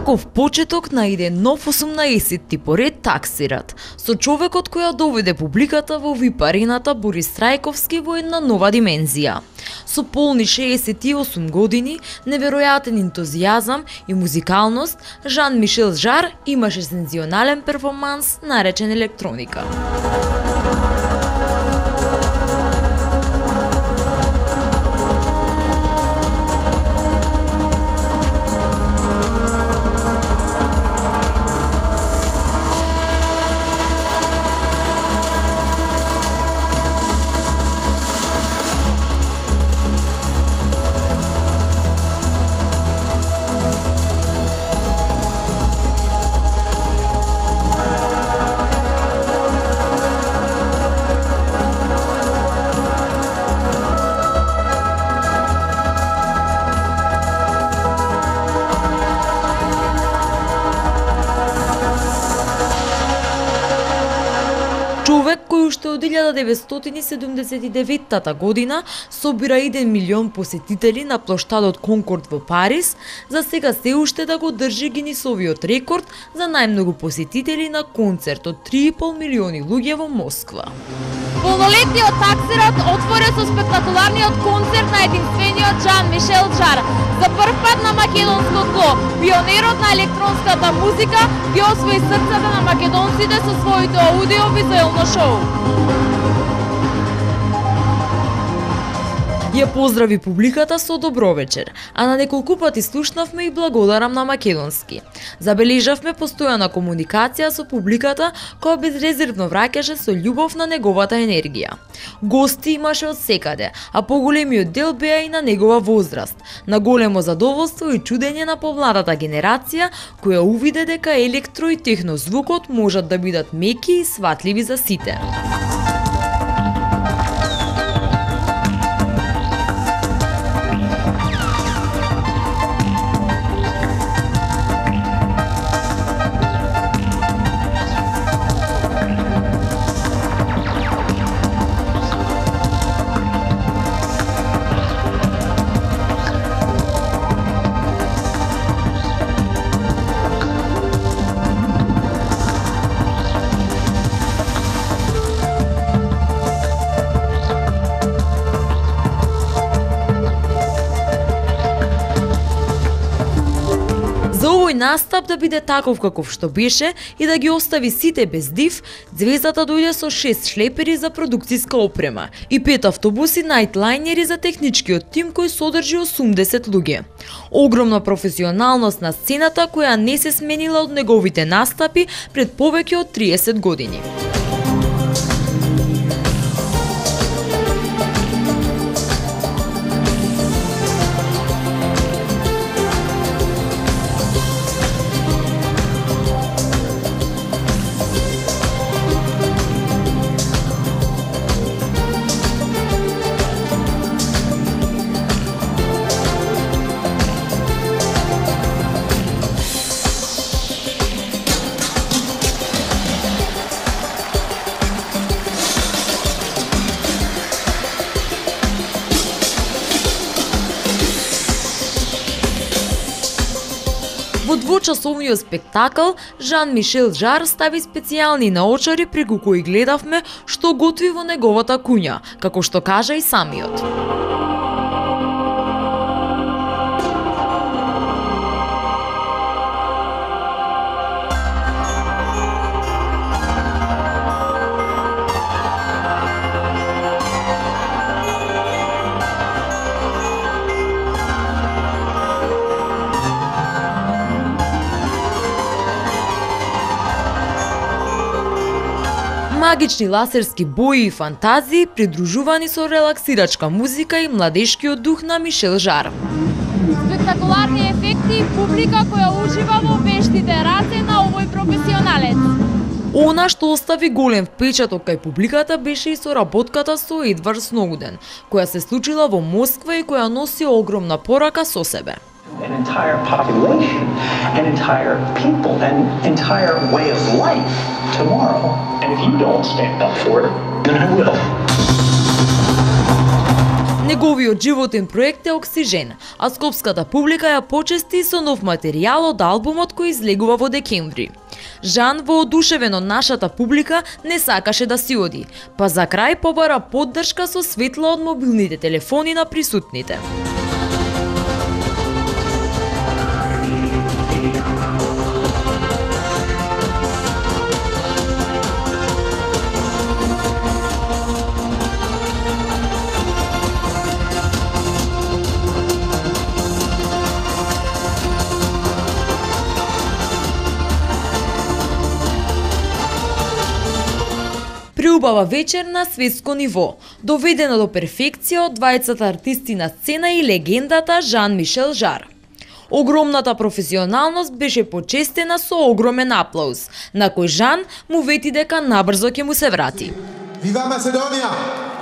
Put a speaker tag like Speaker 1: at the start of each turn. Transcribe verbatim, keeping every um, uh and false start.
Speaker 1: Таков почеток на еден нов осумнаесетти поред таксират, со човекот која доведе публиката во вип арената Борис Трајковски во една нова димензија. Со полни шеесет и осум години, неверојатен ентузијазам и музикалност, Жан-Мишел Жар имаше сензионален перформанс наречен електроника. Човек кој уште од илјада деветстотини седумдесет и деветта година собира еден милион посетители на плоштадот Конкорд во Париз, за сега се уште да го држи Гинисовиот рекорд за најмногу посетители на концерт од три и пол милиони луѓе во Москва.
Speaker 2: Полнолетниот таксират отворе со спектакуларниот концерт на единствениот Жан-Мишел Жар. За прв пат на македонско тло, пионерот на електронската музика ги освои срцата на македонците со своето аудио-визуелно шоу.
Speaker 1: Ја поздрави публиката со добро вечер, а на неколку пати слушнавме и благодарам на македонски. Забележавме постојана комуникација со публиката која безрезервно враќаше со љубов на неговата енергија. Гости имаше од секаде, а поголемиот дел беа и на негова возраст, на големо задоволство и чудење на помладата генерација која увиде дека електро и техно звукот можат да бидат меки и сватливи за сите. За овој настап да биде таков каков што беше и да ги остави сите без див, звездата дојде со шест шлепери за продукциска опрема и пет автобуси најтлајнери за техничкиот тим кој содржи осумдесет луѓе. Огромна професионалност на сцената која не се сменила од неговите настапи пред повеќе од триесет години. Во двочасовниот спектакл, Жан-Мишел Жар стави специјални наочари преку кои гледавме што готви во неговата куња, како што кажа и самиот. Магични ласерски бои и фантазии придружувани со релаксирачка музика и младешкиот дух на Мишел Жар.
Speaker 2: Спектакуларни ефекти и публика која ужива во вештите раце на овој професионалец.
Speaker 1: Она што остави голем впечаток кај публиката беше и соработката со Едвард Сноуден, која се случила во Москва и која носи огромна порака со себе.
Speaker 3: An entire population, an entire people, an entire way of life tomorrow. And if you don't stand up for it, then I will.
Speaker 1: Неговиот животен проект е Оксижен, а скопската публика ја почести со нов материјал од албумот кој излегува во декември. Жан, воодушевен од нашата публика, не сакаше да си оди, па за крај побара поддршка со светла од мобилните телефони на присутните. Преубава вечер на светско ниво, доведена до перфекција од двајцата артисти на сцена и легендата Жан-Мишел Жар. Огромната професионалност беше почестена со огромен аплауз, на кој Жан му вети дека набрзо ќе му се врати.
Speaker 4: Вива Македонија!